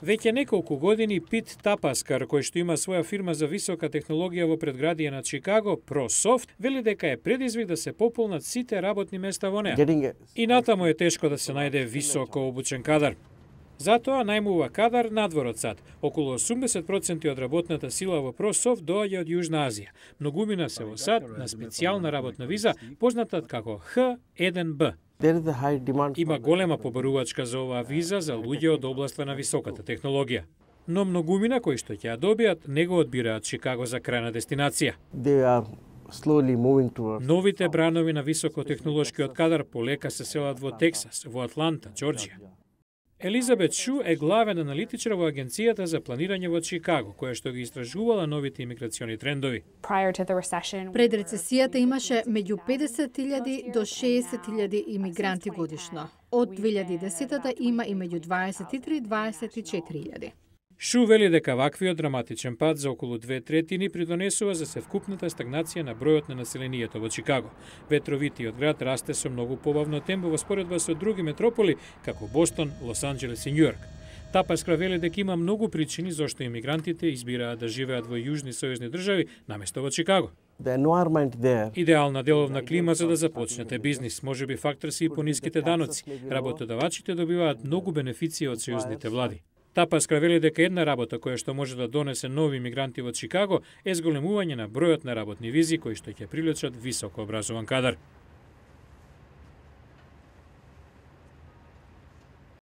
Веќе неколку години Пит Тапаскар, кој што има своја фирма за висока технологија во предградие на Чикаго, ProSoft, вели дека е предизвик да се пополнат сите работни места во неа. И натаму е тешко да се најде високо обучен кадар. Затоа најмува кадар надвор од САД. Околу 80% од работната сила во ProSoft доаѓа од Јужна Азија. Многумина се во САД на специјална работна виза, позната како H1B. Има голема побарувачка за оваа виза за луѓе од областа на високата технологија. Но многумина кои што ќе ја добијат не го одбираат Чикаго за крајна дестинација. Новите бранови на високотехнолошкиот кадар полека се селат во Тексас, во Атланта, Џорџија. Елизабет Шу е главен аналитичар во Агенцијата за планирање во Чикаго, која што ги истражувала новите имиграциони трендови. Пред рецесијата имаше меѓу 50.000 до 60.000 имигранти годишно. Од 2010-та има и меѓу 23 и 24.000. Шу вели дека ваквиот драматичен пад за околу 2/3 придонесува за севкупната стагнација на бројот на населението во Чикаго. Ветровитиот град расте со многу побавно темпо во споредба со други метрополи, како Бостон, Лос Анџелес и Њујорк. Тапаскар вели дека има многу причини зошто имигрантите избираат да живеат во јужни сојузни држави наместо во Чикаго. Идеална деловна клима за да започнете бизнис, можеби фактор се и пониските даноци. Работодавачите добиваат многу бенефиции од сојузните влади. Тапаскар вели дека една работа која што може да донесе нови имигранти во Чикаго е зголемување на бројот на работни визи кои што ќе привлечат високо образован кадар.